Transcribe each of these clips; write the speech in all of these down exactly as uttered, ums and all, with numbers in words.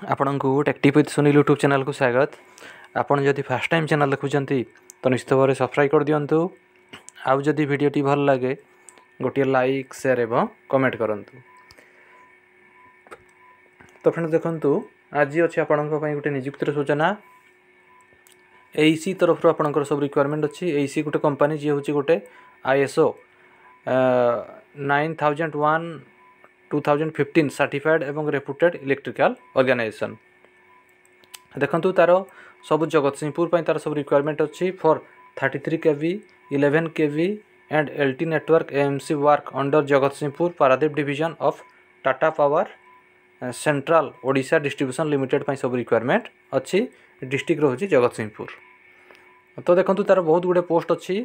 ଆପଣଙ୍କୁ tech tip with Sunil YouTube ଚ୍ୟାନେଲ୍କୁ ସ୍ୱାଗତ। ଆପଣ ଯଦି ଫାର୍ଷ୍ଟ ଟାଇମ୍ ଚ୍ୟାନେଲ୍ ଦେଖୁଛନ୍ତି, ତ ନିଶ୍ଚିତ ଭାବରେ ସବସ୍କ୍ରାଇବ୍ କରିଦିଅନ୍ତୁ। ଆଉ ଯଦି ଭିଡ଼ିଓଟି ଭଲ ଲାଗେ, ଗୋଟିଏ ଲାଇକ୍, ସେୟାର ଏବଂ କମେଣ୍ଟ କରନ୍ତୁ। ତ ଫ୍ରେଣ୍ଡ, ଦେଖନ୍ତୁ, ଆଜି ଅଛି ଆପଣଙ୍କ ପାଇଁ ଗୋଟେ ନିଯୁକ୍ତିର ସୂଚନା। ଏଇସି ତରଫରୁ ଆପଣଙ୍କର ସବୁ ରିକ୍ୱାରମେଣ୍ଟ ଅଛି। ଏଇସି ଗୋଟେ କମ୍ପାନୀ, ଯିଏ ହେଉଛି ଗୋଟେ I S O nine thousand one two thousand fifteen certified ଏବଂ ରେପୁଟେଡ୍ ଇଲେକ୍ଟ୍ରିକାଲ୍ ଅର୍ଗାନାଇଜେସନ୍। ଦେଖନ୍ତୁ, ତା'ର ସବୁ ଜଗତସିଂହପୁର ପାଇଁ ତା'ର ସବୁ ରିକ୍ୱାରମେଣ୍ଟ ଅଛି for thirty three K V, eleven K V and L T network A M C work under Jagatsinghpur Paradip division of Tata Power Central Odisha Distribution Limited ପାଇଁ ସବୁ requirement ଅଛି। ଡିଷ୍ଟ୍ରିକ୍ଟ ରହୁଛି ଜଗତସିଂହପୁର। ତ ଦେଖନ୍ତୁ, ତା'ର ବହୁତ ଗୁଡ଼ିଏ ପୋଷ୍ଟ ଅଛି।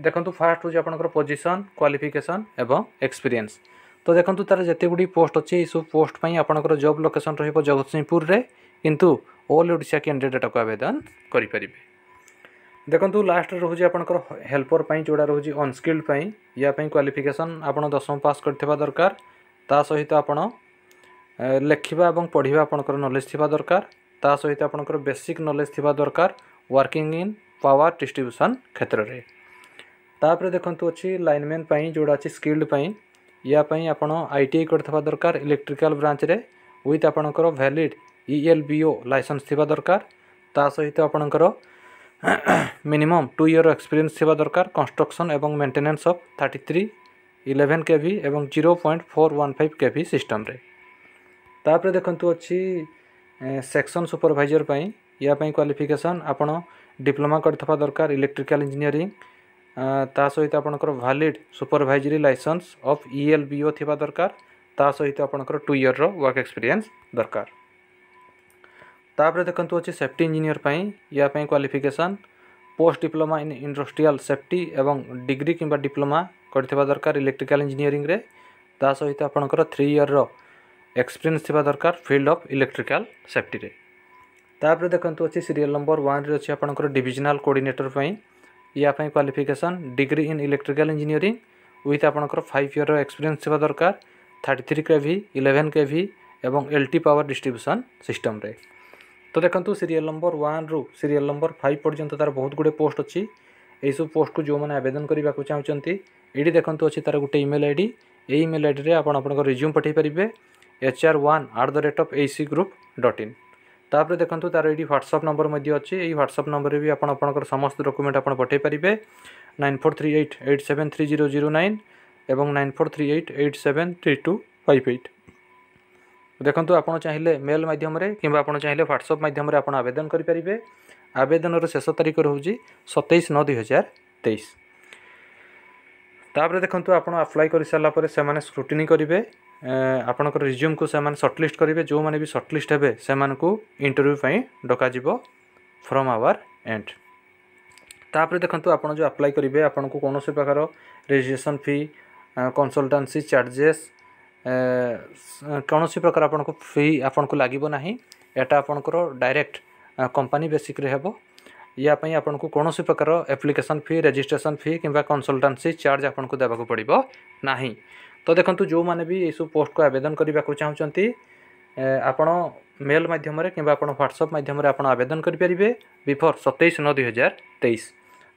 ଦେଖନ୍ତୁ, ଫାର୍ଷ୍ଟ ହେଉଛି ଆପଣଙ୍କର ପୋଜିସନ୍, କ୍ୱାଲିଫିକେସନ୍ ଏବଂ ଏକ୍ସପିରିଏନ୍ସ। ତ ଦେଖନ୍ତୁ, ତା'ର ଯେତେ ଗୁଡ଼ିଏ ପୋଷ୍ଟ ଅଛି, ଏଇସବୁ ପୋଷ୍ଟ ପାଇଁ ଆପଣଙ୍କର ଜବ୍ ଲୋକେସନ୍ ରହିବ ଜଗତସିଂହପୁରରେ, କିନ୍ତୁ ଅଲ୍ ଓଡ଼ିଶା କ୍ୟାଣ୍ଡିଡେଟ୍ ଏଟାକୁ ଆବେଦନ କରିପାରିବେ। ଦେଖନ୍ତୁ, ଲାଷ୍ଟରେ ରହୁଛି ଆପଣଙ୍କର ହେଲ୍ପର ପାଇଁ, ଯେଉଁଟା ରହୁଛି ଅନସ୍କିଲ୍ଡ ପାଇଁ। ୟା ପାଇଁ କ୍ୱାଲିଫିକେସନ୍ ଆପଣ ଦଶମ ପାସ୍ କରିଥିବା ଦରକାର। ତା ସହିତ ଆପଣ ଲେଖିବା ଏବଂ ପଢ଼ିବା ଆପଣଙ୍କର ନଲେଜ୍ ଥିବା ଦରକାର। ତା ସହିତ ଆପଣଙ୍କର ବେସିକ୍ ନଲେଜ୍ ଥିବା ଦରକାର ୱାର୍କିଂ ଇନ୍ ପାୱାର ଡିଷ୍ଟ୍ରିବ୍ୟୁସନ୍ କ୍ଷେତ୍ରରେ। ତାପରେ ଦେଖନ୍ତୁ, ଅଛି ଲାଇନମ୍ୟାନ୍ ପାଇଁ, ଯେଉଁଟା ଅଛି ସ୍କିଲ୍ଡ ପାଇଁ। ୟା ପାଇଁ ଆପଣ I T I କରିଥିବା ଦରକାର ଇଲେକ୍ଟ୍ରିକାଲ୍ ବ୍ରାଞ୍ଚରେ, ୱିଥ୍ ଆପଣଙ୍କର valid E L B O licence ଥିବା ଦରକାର। ତା ସହିତ ଆପଣଙ୍କର ମିନିମମ୍ ଟୁ ଇୟର୍ ଏକ୍ସପିରିଏନ୍ସ ଥିବା ଦରକାର କନଷ୍ଟ୍ରକ୍ସନ୍ ଏବଂ maintenance of thirty three, eleven K V ଏବଂ zero point four one five K V ସିଷ୍ଟମ୍ରେ। ତାପରେ ଦେଖନ୍ତୁ, ଅଛି ସେକ୍ସନ୍ ସୁପରଭାଇଜର୍ ପାଇଁ। ୟା ପାଇଁ କ୍ୱାଲିଫିକେସନ୍ ଆପଣ ଡିପ୍ଲୋମା କରିଥିବା ଦରକାର ଇଲେକ୍ଟ୍ରିକାଲ୍ ଇଞ୍ଜିନିୟରିଂ। ତା ସହିତ ଆପଣଙ୍କର valid supervisory licence of E L B O ଥିବା ଦରକାର। ତା ସହିତ ଆପଣଙ୍କର ଟୁ ଇୟର୍ର ୱାର୍କ ଏକ୍ସପିରିଏନ୍ସ ଦରକାର। ତାପରେ ଦେଖନ୍ତୁ, ଅଛି ସେଫ୍ଟି ଇଞ୍ଜିନିୟର ପାଇଁ। ୟା ପାଇଁ qualification post diploma in industrial safety ଏବଂ ଡିଗ୍ରୀ କିମ୍ବା ଡିପ୍ଲୋମା କରିଥିବା ଦରକାର ଇଲେକ୍ଟ୍ରିକାଲ୍ ଇଞ୍ଜିନିୟରିଂରେ। ତା ସହିତ ଆପଣଙ୍କର ଥ୍ରୀ ଇୟର୍ର ଏକ୍ସପିରିଏନ୍ସ ଥିବା ଦରକାର ଫିଲ୍ଡ ଅଫ୍ ଇଲେକ୍ଟ୍ରିକାଲ୍ ସେଫ୍ଟିରେ। ତାପରେ ଦେଖନ୍ତୁ, ଅଛି ସିରିଏଲ୍ ନମ୍ବର ୱାନ୍ରେ ଅଛି ଆପଣଙ୍କର ଡିଭିଜନାଲ୍ କୋଅର୍ଡ଼ିନେଟର ପାଇଁ। ୟା ପାଇଁ qualification degree in electrical engineering with ଆପଣଙ୍କର ଫାଇଭ୍ ଇୟର୍ର ଏକ୍ସପିରିଏନ୍ସ ଥିବା ଦରକାର thirty three K V, eleven K V ଏବଂ ଏଲ୍ ଟି ପାୱାର ଡିଷ୍ଟ୍ରିବ୍ୟୁସନ୍ ସିଷ୍ଟମ୍ରେ। ତ ଦେଖନ୍ତୁ, ସିରିଏଲ୍ ନମ୍ବର ୱାନ୍ରୁ ସିରିଏଲ୍ ନମ୍ବର ଫାଇଭ୍ ପର୍ଯ୍ୟନ୍ତ ତା'ର ବହୁତ ଗୁଡ଼ିଏ ପୋଷ୍ଟ ଅଛି। ଏଇସବୁ ପୋଷ୍ଟକୁ ଯେଉଁମାନେ ଆବେଦନ କରିବାକୁ ଚାହୁଁଛନ୍ତି, ଏଇଠି ଦେଖନ୍ତୁ, ଅଛି ତା'ର ଗୋଟେ ଇମେଲ୍ I D. ଏଇ ଇମେଲ୍ I ଡ଼ିରେ ଆପଣ ଆପଣଙ୍କ ରିଜ୍ୟୁମ୍ ପଠାଇ ପାରିବେ, H R one at the rate of A C group dot in. ତାପରେ ଦେଖନ୍ତୁ, ତା'ର ଏଇଠି ହ୍ୱାଟ୍ସଅପ୍ ନମ୍ବର ମଧ୍ୟ ଅଛି। ଏଇ ହ୍ୱାଟ୍ସଅପ୍ ନମ୍ବରରେ ବି ଆପଣ ଆପଣଙ୍କର ସମସ୍ତ ଡକୁମେଣ୍ଟ ଆପଣ ପଠାଇ ପାରିବେ, nine four three eight eight seven three zero zero nine ଏବଂ nine four three eight eight seven three two five eight. ଦେଖନ୍ତୁ, ଆପଣ ଚାହିଁଲେ ମେଲ୍ ମାଧ୍ୟମରେ କିମ୍ବା ଆପଣ ଚାହିଁଲେ ହ୍ୱାଟ୍ସଅପ୍ ମାଧ୍ୟମରେ ଆପଣ ଆବେଦନ କରିପାରିବେ। ଆବେଦନର ଶେଷ ତାରିଖ ରହୁଛି ସତେଇଶ ନଅ ଦୁଇହଜାର ତେଇଶ। ତାପରେ ଦେଖନ୍ତୁ, ଆପଣ ଆପ୍ଲାଏ କରିସାରିଲା ପରେ ସେମାନେ ସ୍କ୍ରୁଟିନି କରିବେ। ଆପଣଙ୍କର ରିଜ୍ୟୁମ୍କୁ ସେମାନେ ସର୍ଟଲିଷ୍ଟ କରିବେ। ଯେଉଁମାନେ ବି ସର୍ଟଲିଷ୍ଟ ହେବେ, ସେମାନଙ୍କୁ ଇଣ୍ଟରଭ୍ୟୁ ପାଇଁ ଡକାଯିବ ଫ୍ରମ୍ ଆୱାର ଏଣ୍ଡ। ତାପରେ ଦେଖନ୍ତୁ, ଆପଣ ଯେଉଁ ଆପ୍ଲାଏ କରିବେ, ଆପଣଙ୍କୁ କୌଣସି ପ୍ରକାର ରେଜିଷ୍ଟ୍ରେସନ୍ ଫି, କନସଲଟାନ୍ସି ଚାର୍ଜେସ୍, କୌଣସି ପ୍ରକାର ଆପଣଙ୍କୁ ଫି ଆପଣଙ୍କୁ ଲାଗିବ ନାହିଁ। ଏଇଟା ଆପଣଙ୍କର ଡାଇରେକ୍ଟ କମ୍ପାନୀ ବେସିସ୍ରେ ହେବ। ୟା ପାଇଁ ଆପଣଙ୍କୁ କୌଣସି ପ୍ରକାର ଆପ୍ଲିକେସନ୍ ଫି, ରେଜିଷ୍ଟ୍ରେସନ୍ ଫି କିମ୍ବା କନସଲଟାନ୍ସି ଚାର୍ଜ ଆପଣଙ୍କୁ ଦେବାକୁ ପଡ଼ିବ ନାହିଁ। ତ ଦେଖନ୍ତୁ, ଯେଉଁମାନେ ବି ଏଇସବୁ ପୋଷ୍ଟକୁ ଆବେଦନ କରିବାକୁ ଚାହୁଁଛନ୍ତି, ଆପଣ ମେଲ୍ ମାଧ୍ୟମରେ କିମ୍ବା ଆପଣ ହ୍ୱାଟ୍ସଅପ୍ ମାଧ୍ୟମରେ ଆପଣ ଆବେଦନ କରିପାରିବେ ବିଫୋର୍ ସତେଇଶ ନଅ ଦୁଇହଜାର ତେଇଶ।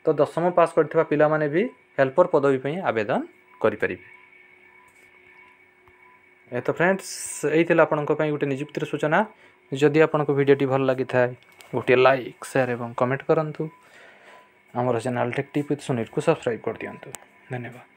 ତ ଦଶମ ପାସ୍ କରିଥିବା ପିଲାମାନେ ବି ହେଲ୍ପର ପଦବୀ ପାଇଁ ଆବେଦନ କରିପାରିବେ। ତ ଫ୍ରେଣ୍ଡସ୍, ଏଇ ଥିଲା ଆପଣଙ୍କ ପାଇଁ ଗୋଟେ ନିଯୁକ୍ତିର ସୂଚନା। ଯଦି ଆପଣଙ୍କୁ ଭିଡ଼ିଓଟି ଭଲ ଲାଗିଥାଏ, ଗୋଟିଏ ଲାଇକ୍, ସେୟାର ଏବଂ କମେଣ୍ଟ କରନ୍ତୁ। ଆମର ଚ୍ୟାନେଲ୍ ଟେକ୍ ଟିପ୍ ୱିଥ୍ ସୁନୀଲକୁ ସବସ୍କ୍ରାଇବ୍ କରିଦିଅନ୍ତୁ। ଧନ୍ୟବାଦ।